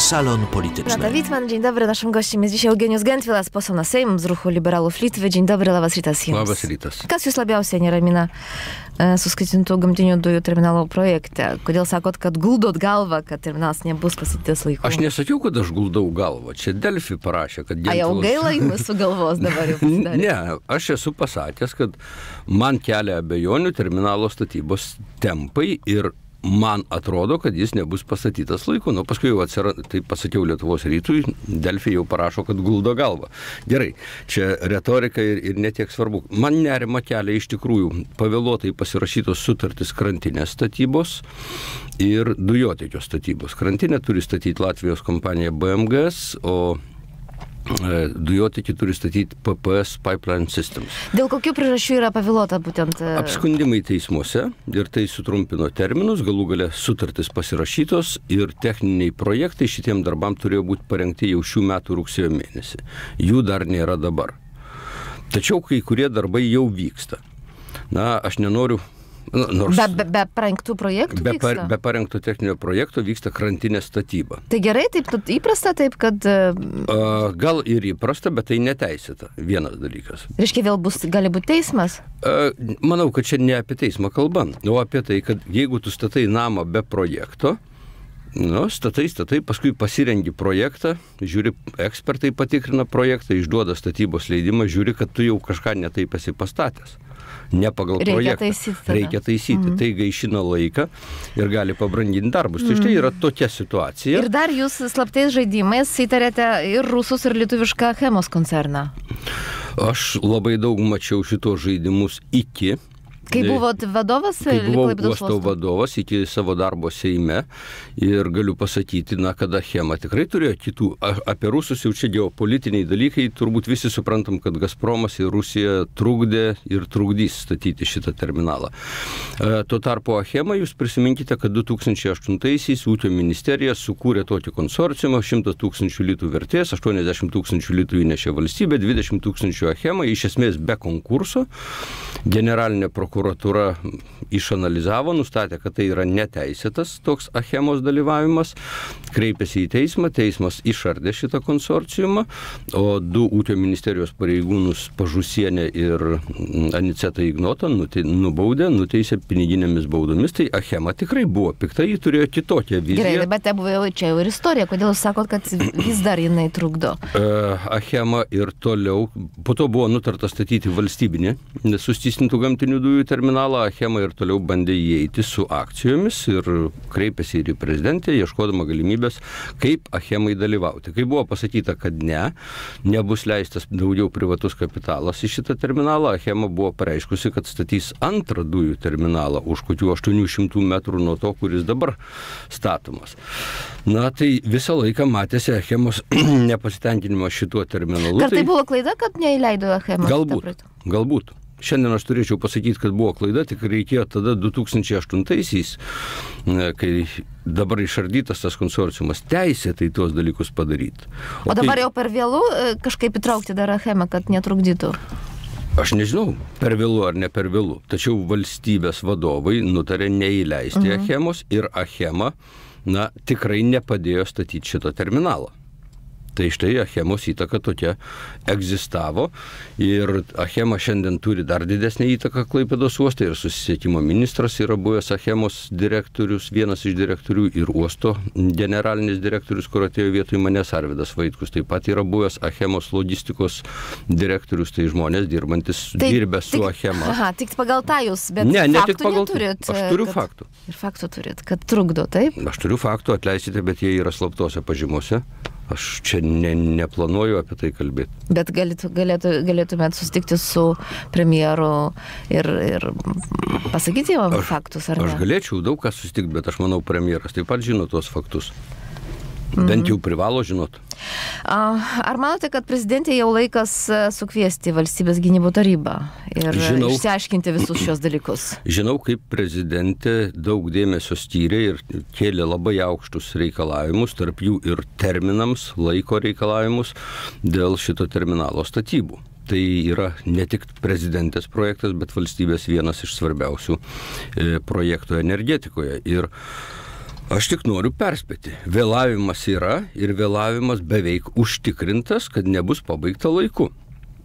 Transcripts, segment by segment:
Salon Polityczny. Renata Wittmann, dzień dobry. Naszym gościem jest dzisiaj Eugenijus Gentvilas, poseł na Sejm z Ruchu Liberalów Litwy. Dzień dobry, labas rytas jums. Labas rytas. Kas jūs labiausiai neramina suskaitintų gamtinių dujų terminalo projekte? Kodėl sakot, kad guldot galvą, kad terminalas nebus pastatytas laiku? Aš nesakiau, kad aš guldau galvą. Čia Delfi parašė, kad... Jau gaila jums su galvos dabar jau pasidarė. Ne, aš esu pasakęs, kad man kelia abejonių terminalo statybos tempai ir man atrodo, kad jis nebus pastatytas laiku. Nu, paskui jau tai pasakiau Lietuvos rytui, Delfi jau parašo, kad guldo galvą. Gerai, čia retorika ir netiek svarbu. Man nerima kelia iš tikrųjų pavėluotai pasirašytos sutartys krantinės statybos ir dujotiekio statybos. Krantinę turi statyti Latvijos kompanija BMGS, o dujotiekį turi statyti PPS Pipeline Systems. Dėl kokių priežasčių yra pavėluota būtent? Apskundimai teismuose ir tai sutrumpino terminus, galų gale sutartis pasirašytos ir techniniai projektai šitiem darbam turėjo būti parengti jau šių metų rugsėjo mėnesį. Jų dar nėra dabar. Tačiau kai kurie darbai jau vyksta. Na, aš nenoriu... Be parengtų projektų vyksta? Be parengto techninio projekto vyksta krantinės statyba. Tai gerai, taip įprasta, taip, kad... Gal ir įprasta, bet tai neteisėta. Vienas dalykas. Reiškia, vėl gali būti teismas? Manau, kad čia ne apie teismą kalba, o apie tai, kad jeigu tu statai namą be projekto, statai, paskui pasirengi projektą, žiūri, ekspertai patikrina projektą, išduoda statybos leidimą, žiūri, kad tu jau kažką netaip esi pastatęs. Ne pagal projektą. Reikia taisyti. Tai gaišina laiką ir gali pabranginti darbus. Tai štai yra tokia situacija. Ir dar jūs slaptais žaidimais įtarėte ir rusus, ir lietuvišką Achemos koncerną. Aš labai daug mačiau šitos žaidimus iki... Kai buvot vadovas? Kai buvau uosto vadovas iki savo darbo Seime ir galiu pasakyti, kad Achema tikrai turėjo kitų. Apie rusus jau čia geopolitiniai dalykai, turbūt visi suprantam, kad Gazpromas ir Rusija trukdė ir trukdys statyti šitą terminalą. Tuo tarpu Achema, jūs prisiminkite, kad 2008-aisiais Ūkio ministerija sukūrė tokį konsorciumą, 100 000 litų vertės, 80 000 litų įnešė valstybė, 20 000 Achema, iš esmės be konkurso. Generalinė prokuratūra išanalizavo, nustatė, kad tai yra neteisėtas toks Achemos dalyvavimas, kreipėsi į teismą, teismas išardė šitą konsorciumą, o 2 Ūkio ministerijos pareigūnus Pažusienę ir Anicetą Ignotą nubaudė, nuteisė piniginėmis baudomis. Tai Achema tikrai buvo pikta, ji turėjo kitokią viziją. Gerai, bet buvo čia jau ir istorija. Kodėl jūs sakot, kad vis dar jinai trukdo? Achema ir toliau, po to buvo nutarta statyti valstybinį suskystintų gamtinių dujų terminalą. Achema ir toliau bandė įeiti su akcijomis ir kreipėsi ir į prezidentę, ieškodama galimybės, kaip Achemai dalyvauti. Kai buvo pasakyta, kad nebus leistas daugiau privatus kapitalas į šitą terminalą, Achema buvo pareiškusi, kad statys antrą dujų terminalą už kokių 800 metrų nuo to, kuris dabar statomas. Na, tai visą laiką matėsi Achemos nepasitenkinimas šituo terminalu. Ar tai buvo klaida, kad neįleido Achema? Galbūt. Šiandien aš turėčiau pasakyti, kad buvo klaida, tik reikėjo tada 2008-aisiais, kai dabar išardytas tas konsorciumas, teisėtai tuos dalykus padaryti. O dabar jau per vėlų kažkaip įtraukti dar Achemą, kad netrukdytų? Aš nežinau, per vėlų ar ne per vėlų. Tačiau valstybės vadovai nutarė neįleisti Achemos ir Achema, tikrai nepadėjo statyti šito terminalo. Tai štai Achemos įtaka tokia egzistavo ir Achema šiandien turi dar didesnį įtaką Klaipėdos uoste ir susisiekimo ministras yra buvęs Achemos direktorius, vienas iš direktorių ir uosto generalinis direktorius, kur atėjo vietoj manęs Arvydas Vaitkus. Taip pat yra buvęs Achemos logistikos direktorius, tai žmonės dirbę su Achema. Aha, tik pagal tą jūs, bet faktų neturit. Aš turiu faktų. Ir faktų turit, kad trukdo, taip? Aš turiu faktų, atleisite, bet jie yra slaptose pažymose. Aš čia neplanuoju apie tai kalbėti. Bet galėtumėt susitikti su premjeru ir pasakyti jam faktus, ar ne? Aš galėčiau daug ką susitikti, bet aš manau, premjeras taip pat žino tuos faktus. Bent jau privalo žinot. Ar manote, kad prezidentė jau laikas sukviesti valstybės gynybų tarybą ir išsiaiškinti visus šios dalykus? Žinau, kaip prezidentė daug dėmesio skyrė ir kėlė labai aukštus reikalavimus, tarp jų ir terminams, laiko reikalavimus dėl šito terminalo statybų. Tai yra ne tik prezidentės projektas, bet valstybės vienas iš svarbiausių projektų energetikoje. Ir Aš tik noriu perspėti. Vėlavimas yra ir vėlavimas beveik užtikrintas, kad nebus pabaigta laiku.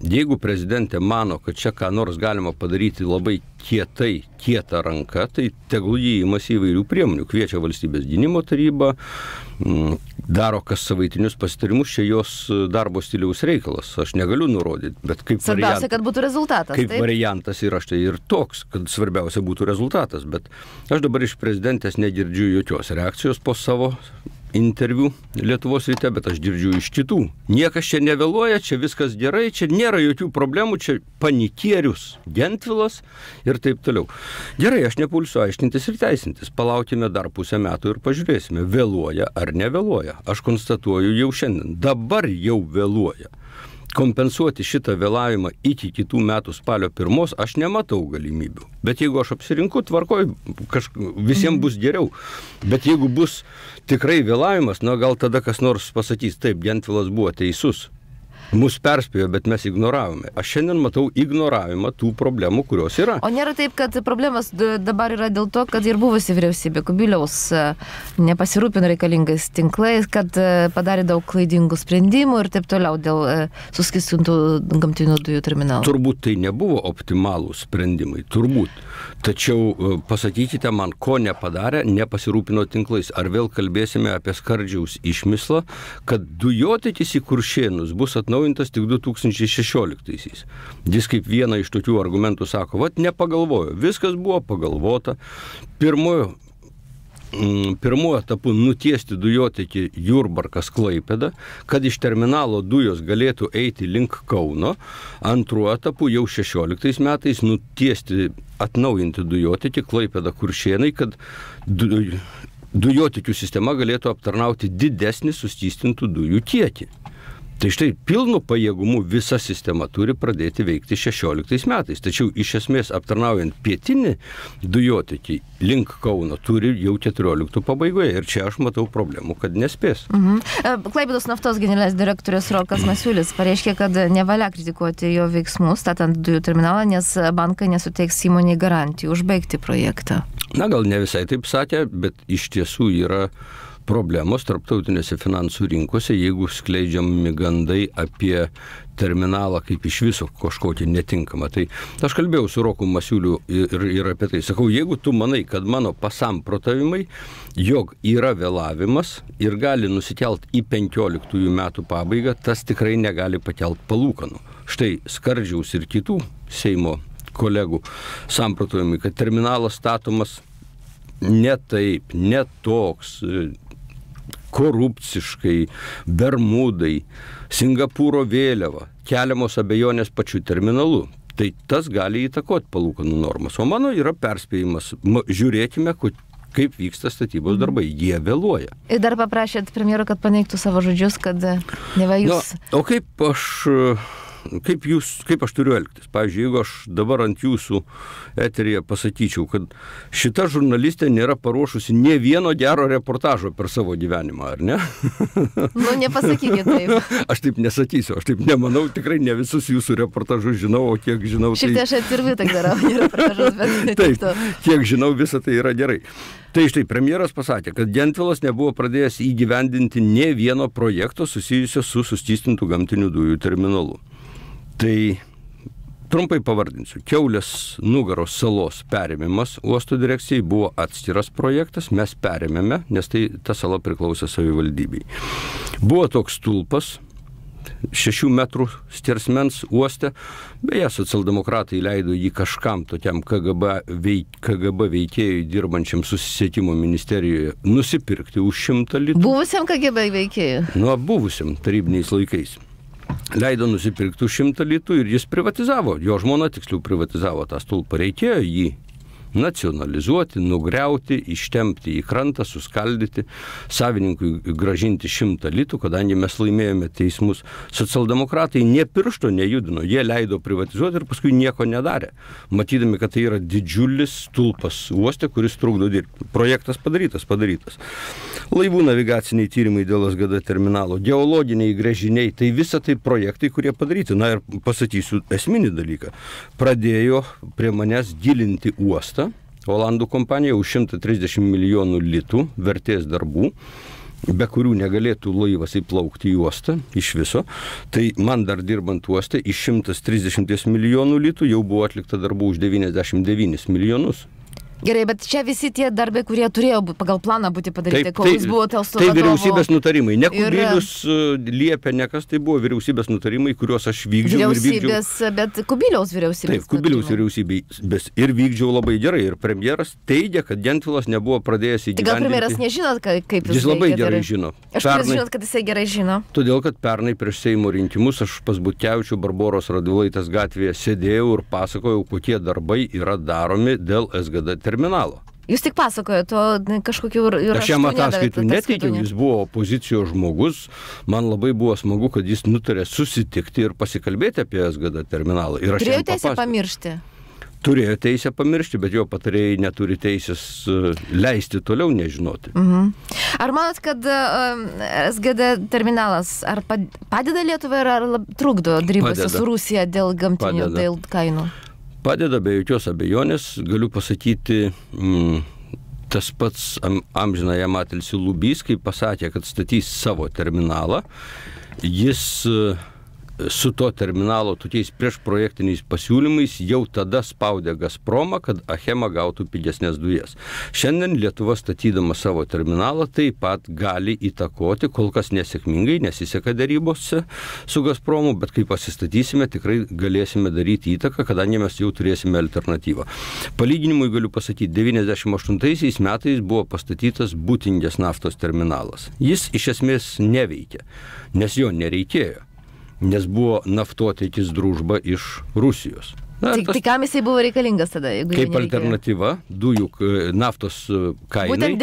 Jeigu prezidentė mano, kad čia ką nors galima padaryti labai kieta ranka, tai tegul jį imasi įvairių priemonių. Kviečia valstybės gynimo tarybą, daro kas savaitinius pasitarimus, čia jos darbo stiliaus reikalas. Aš negaliu nurodyti, bet kaip svarbiausia, kad būtų rezultatas. Kaip variantas yra štai ir toks, kad svarbiausia būtų rezultatas. Bet aš dabar iš prezidentės negirdžiu jokios reakcijos po savo interviu Lietuvos ryte, bet aš girdžiu iš kitų. Niekas čia nevėluoja, čia viskas gerai, čia nėra jokių problemų, čia panikierius Gentvilas ir taip toliau. Gerai, aš nepulsiu aiškintis ir teisintis. Palaukime dar pusę metų ir pažiūrėsime, vėluoja ar nevėluoja. Aš konstatuoju jau šiandien, dabar jau vėluoja. Kompensuoti šitą vėlavimą iki kitų metų spalio 1 aš nematau galimybių. Bet jeigu aš apsirinku, tvarkoj, visiems bus geriau. Bet jeigu bus tikrai vėlavimas, gal tada kas nors pasakys, taip, Gentvilas buvo teisus. Mus perspėjo, bet mes ignoravome. Aš šiandien matau ignoravimą tų problemų, kurios yra. O nėra taip, kad problemas dabar yra dėl to, kad ir buvusi vyriausybė Kubiliaus nepasirūpino reikalingais tinklais, kad padarė daug klaidingų sprendimų ir taip toliau dėl suskystintų gamtinių dujų terminalų. Turbūt tai nebuvo optimalūs sprendimai, turbūt. Tačiau pasakykite man, ko nepadarė, nepasirūpino tinklais. Ar vėl kalbėsime apie Skardžiaus išmislą, kad dujotiekis į Kuršėnus bus atnaujintas tik 2016-aisiais. Jis kaip vieną iš tokių argumentų sako, nepagalvojo, viskas buvo pagalvota. Pirmuoju etapu nutiesti dujotiekį Jurbarkas-Klaipėda, kad iš terminalo dujos galėtų eiti link Kauno. Antruoju etapu jau 16 metais nutiesti, atnaujinti dujotiekį Klaipėda-Kuršėnai, kad dujotiekių sistema galėtų aptarnauti didesnį suskystintų dujų kiekį. Tai štai pilnu pajėgumu visa sistema turi pradėti veikti 16 metais. Tačiau iš esmės aptarnaujant pietinį dujotiekį link Kauno turi jau 14 pabaigoje. Ir čia aš matau problemų, kad nespės. Klaipėdos naftos generalinis direktorius Rokas Masiulis pareiškė, kad nevalia kritikuoti jo veiksmus statant dujų terminalą, nes bankai nesuteiks įmonei garantijų užbaigti projektą. Gal ne visai taip sakė, bet iš tiesų yra problemos tarptautinėse finansų rinkose, jeigu skleidžiami gandai apie terminalą kaip iš viso kažkokį netinkamą. Tai aš kalbėjau su Roku Masiuliu ir apie tai. Sakau, jeigu tu manai, kad mano pasamprotavimai, jog yra vėlavimas ir gali nusikelt į 15 metų pabaigą, tas tikrai negali pakelt palūkanų. Štai Skardžiaus ir kitų Seimo kolegų samprotavimai, kad terminalas statomas ne taip, ne toks, korupciškai, Bermudai, Singapūro vėliava, keliamos abejonės pačiu terminalu. Tai tas gali įtakoti palūkanų normas. O mano yra perspėjimas. Žiūrėkime, kaip vyksta statybos darbai. Jie vėluoja. Ir dar paprašėt premjero, kad paneigtų savo žodžius, kad neva jūs... O kaip aš turiu elgtis? Pavyzdžiui, jeigu aš dabar ant jūsų eteryje pasakyčiau, kad šita žurnalistė nėra paruošusi nė vieno gero reportažo per savo gyvenimą, ar ne? Nepasakykit taip. Aš taip nesakysiu, aš taip nemanau, tikrai ne visus jūsų reportažus žinau, o kiek žinau... Šiaip tai aš atvirvi tak darau reportažus, bet... Taip, kiek žinau, visa tai yra gerai. Tai štai premjeras pasakė, kad Gentvilas nebuvo pradėjęs įgyvendinti nė vieno projekto susijusio su suskystintų gamtinių dujų terminalu. Tai trumpai pavardinsiu. Kiaulės Nugaros salos perėmimas uosto direkcijai buvo atskiras projektas, mes perėmėme, nes ta sala priklausė savivaldybei. Buvo toks stulpas, 6 metrų skersmens uoste, beje, socialdemokratai leido jį kažkam tokiam KGB veikėjui dirbančiam susisiekimo ministerijoje nusipirkti už 100 litų. Buvusiam KGB veikėjui? Buvusiam tarybiniais laikais. Leido nusipirkti už 100 litų ir jis privatizavo. Jo žmona tiksliau privatizavo tą stulpą. Reikėjo jį nacionalizuoti, nugriauti, ištempti į krantą, suskaldyti, savininkui gražinti 100 litų, kadangi mes laimėjome teismus. Socialdemokratai nė piršto nejudino, jie leido privatizuoti ir paskui nieko nedarė, matydami, kad tai yra didžiulis stulpas uoste, kuris trukdo dirbti. Projektas padarytas. Laivų navigaciniai tyrimai dėl SGD terminalo, geologiniai gręžiniai, tai visa tai projektai, kurie padaryti. Na ir pasakysiu esminį dalyką. Pradėjo prie manęs gilinti uostą, Olandų kompanija už 130 milijonų litų vertės darbų, be kurių negalėtų laivas įplaukti į uostą iš viso. Tai man dar dirbant uoste iš 130 milijonų litų jau buvo atlikta darbų už 99 milijonus. Gerai, bet čia visi tie darbai, kurie turėjo pagal planą būti padaryti, kol jūs buvote su vadovu. Tai vyriausybės nutarimai. Ne Kubilius liepė, nekas, tai buvo vyriausybės nutarimai, kuriuos aš vykdžiau ir vykdžiau. Bet Kubiliaus vyriausybės. Taip, Kubiliaus vyriausybės ir vykdžiau labai gerai. Ir premjeras teigia, kad Gentvilas nebuvo pradėjęs įgyvendinti. Tai gal premjeras nežinot, kaip jis labai gerai žino. Aš žinot, kad jisai gerai žino. Todėl, kad pernai prieš Seimo rinkimus aš pas Butkevičių Barboros Radvilaitės gatvėje sėdėjau ir pasakojau, kokie darbai yra daromi dėl SGD terminalo. Jūs tik pasakojate, o kažkokių ir aš jam ataskaitų neteikiau, jis buvo opozicijos žmogus, man labai buvo smagu, kad jis nutarė susitikti ir pasikalbėti apie SGD terminalą. Turėjo teisę pamiršti? Turėjo teisę pamiršti, bet jo patarėjai neturi teisės leisti toliau nežinoti. Ar manot, kad SGD terminalas ar padeda Lietuvai ar trukdo darybose su Rusija dėl gamtinių, dėl kainų? Padeda be jokios abejonės, galiu pasakyti, tas pats amžinąjam atilsį Lubys, kai pasakė, kad statys savo terminalą, jis su to terminalo tokiais priešprojektiniais pasiūlymais jau tada spaudė Gazpromą, kad Achema gautų pigesnės dujas. Šiandien Lietuva statydama savo terminalą taip pat gali įtakoti, kol kas nesėkmingai, nesiseka darybose su Gazpromu, bet kai pasistatysime, tikrai galėsime daryti įtaką, kadangi mes jau turėsime alternatyvą. Palyginimui galiu pasakyti, 98 metais buvo pastatytas Būtingės naftos terminalas. Jis iš esmės neveikia, nes jo nereikėjo. Nes buvo naftotiekis Družba iš Rusijos. Tai kam jisai buvo reikalingas tada? Kaip alternatyva dujų naftos kainai. Būtent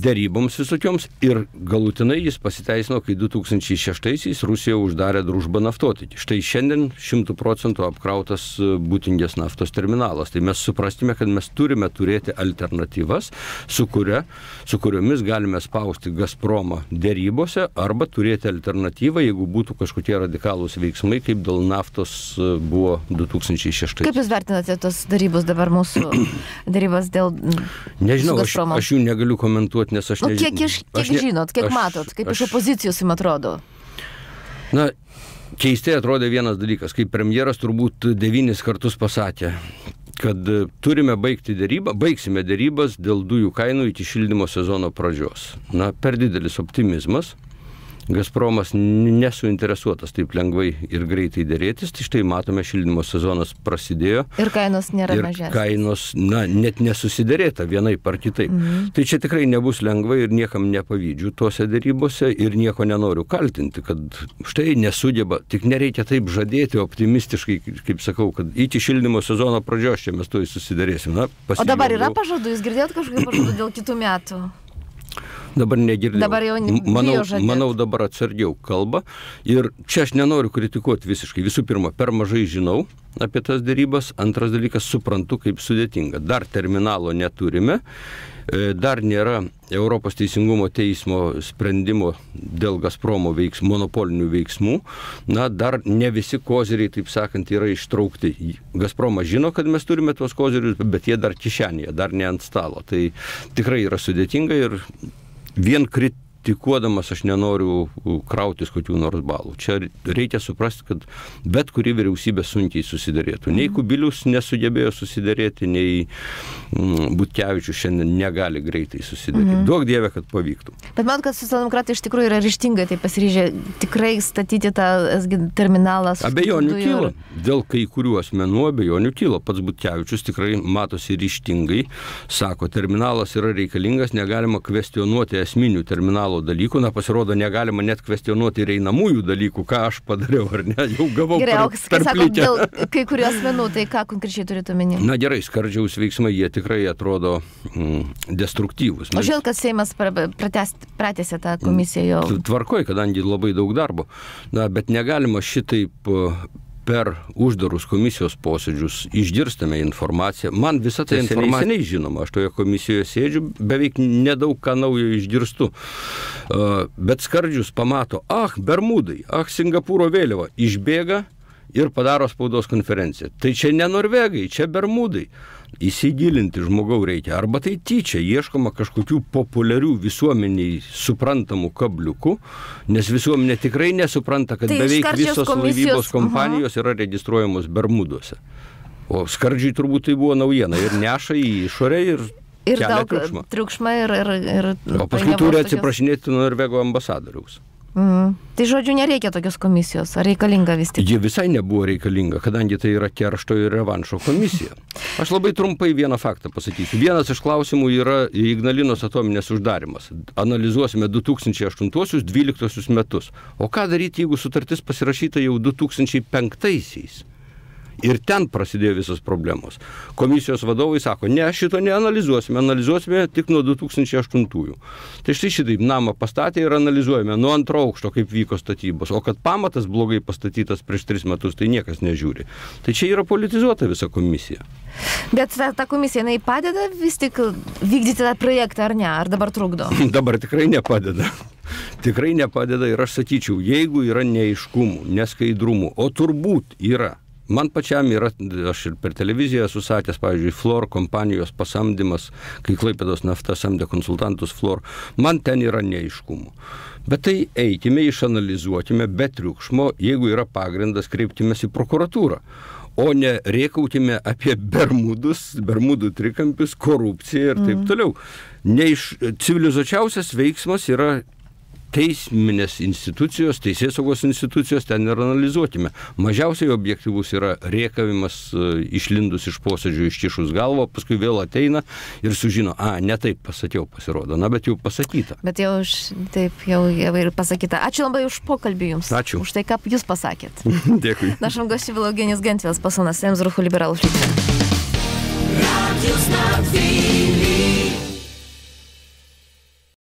deryboms visokioms ir galutinai jis pasiteisino, kai 2006-aisiais Rusija uždarė Družbą naftotiekį. Štai šiandien 100% apkrautas Būtingės naftos terminalas. Tai mes suprastume, kad mes turime turėti alternatyvas, su kuriomis galime spausti Gazpromą derybose arba turėti alternatyvą, jeigu būtų kažkokie radikalūs veiksmai, kaip dėl naftos buvo 2006. Kaip jūs vertinate tos darybos dabar mūsų darybos dėl Nežinau, aš jų negaliu komentuoti, nes aš nežinau. Kiek žinot, kiek matot, kaip iš opozicijos jums atrodo? Na, keistai atrodė vienas dalykas, kaip premjeras turbūt 9 kartus pasakė, kad baigsime derybas dėl dujų kainų iki šildymo sezono pradžios. Na, per didelis optimizmas. Gazpromas nesuinteresuotas taip lengvai ir greitai dėrėtis, tai štai matome, šildymo sezonas prasidėjo. Ir kainos nėra mažesnės. Ir kainos, net nesusidėrėta vienaip ar kitaip. Tai čia tikrai nebus lengva ir niekam nepavydžiu tuose darybose ir nieko nenoriu kaltinti, kad štai nesugeba, tik nereikia taip žadėti optimistiškai, kaip sakau, kad iki šildymo sezono pradžios čia mes to susidėrėsim. O dabar yra pažadų, jūs girdėjot kažkokių pažadų dėl kitų metų? Dabar negirdėjau. Dabar jau manau, dabar atsargiau kalba. Ir čia aš nenoriu kritikuoti visiškai. Visų pirma, per mažai žinau apie tas darybas. Antras dalykas, suprantu, kaip sudėtinga. Dar terminalo neturime. Dar nėra Europos teisingumo teismo sprendimo dėl Gazpromo monopolinių veiksmų. Na, dar ne visi koziriai, taip sakant, yra ištraukti. Gazpromas žino, kad mes turime tuos kozirius, bet jie dar kišenėje, dar ne ant stalo. Tai tikrai yra sudėtinga ir vien kritikuodamas aš nenoriu krautis kokių nors balų. Čia reikia suprasti, kad bet kuri vyriausybė sunkiai susiderėtų. Nei Kubilius nesugebėjo susiderėti, nei Butkevičius šiandien negali greitai susiderėti. Duok Dieve, kad pavyktų. Bet man, kad socialdemokratai iš tikrųjų yra ryžtingai tai pasiryžę tikrai statyti tą terminalą. Abejonių kyla. Dėl kai kurių asmenų abejonių kyla. Pats Butkevičius tikrai matosi ryžtingai. Sako, terminalas yra reikalingas, negalima kvestionuoti esminių terminalo dalykų. Na, pasirodo, negalima net kvestionuoti ir einamųjų dalykų, ką aš padariau, ar ne? Jau gavau sako, dėl kai kurių asmenų, tai ką konkrečiai turite omeny? Na gerai, Skardžiaus veiksmai, jie tikrai atrodo destruktyvūs. O žinot, kad Seimas pratęsė tą komisiją jau? Tvarkoj, kadangi labai daug darbo. Na, bet negalima šitaip per uždarus komisijos posėdžius išgirstame informaciją. Man visą tai informacija žinoma, aš toje komisijoje sėdžiu, beveik nedaug ką naujo išgirstu. Bet Skardžius pamato, Bermudai, Singapūro vėliava, išbėga ir padaro spaudos konferenciją. Tai čia ne Norvegai, čia Bermudai. įsigilinti žmogau reikia. Arba tai tyčia ieškoma kažkokių populiarių visuomeniai suprantamų kabliukų, nes visuomenė tikrai nesupranta, kad beveik visos laivybos kompanijos yra registruojamos Bermuduose. O skardžiui turbūt tai buvo naujiena ir neša į išorę ir daug triukšmą ir o paskui turi atsiprašinėti Norvego ambasadoriaus. Tai žodžiu, nereikia tokios komisijos, ar reikalinga vis tik? Ji visai nebuvo reikalinga, kadangi tai yra keršto ir revanšo komisija. Aš labai trumpai vieną faktą pasakysiu. Vienas iš klausimų yra Ignalinos atominės uždarimas. Analizuosime 2008-2012 metus. O ką daryti, jeigu sutartis pasirašyta jau 2005-aisiais? Ir ten prasidėjo visos problemos. Komisijos vadovai sako, ne, šito neanalizuosime, analizuosime tik nuo 2008-ųjų. Tai štai šitaip namą pastatė ir analizuojame nuo antro aukšto, kaip vyko statybos. O kad pamatas blogai pastatytas prieš 3 metus, tai niekas nežiūri. Tai čia yra politizuota visa komisija. Bet ta komisija, jinai padeda vis tik vykdyti tą projektą, ar ne? Ar dabar trukdo? Dabar tikrai nepadeda. Tikrai nepadeda ir aš sakyčiau, jeigu yra neaiškumų, neskaidrumų, o turbūt yra. Man pačiam yra, aš ir per televiziją esu sakęs, pavyzdžiui, Fluor kompanijos pasamdymas, kai Klaipėdos nafta samdė konsultantus Fluor, man ten yra neaiškumų. Bet tai eikime, išanalizuokime, be triukšmo, jeigu yra pagrindas, kreiptimės į prokuratūrą, o ne rėkautime apie Bermudų trikampius, korupciją ir taip toliau. Civilizuočiausias veiksmas yra teisminės institucijos, teisėsaugos institucijos, ten ir analizuokime. Mažiausiai objektyvus yra rėkavimas išlindus iš posėdžių, ištišus galvą, paskui vėl ateina ir sužino, ne taip pasakiau, pasirodo, bet jau pasakyta. Bet jau ir pasakyta. Ačiū labai už pokalbį jums. Ačiū. Už tai, ką jūs pasakėt. Dėkui. Нашим гостем был Евгений Гентвелс, посол на Союз руху либералов.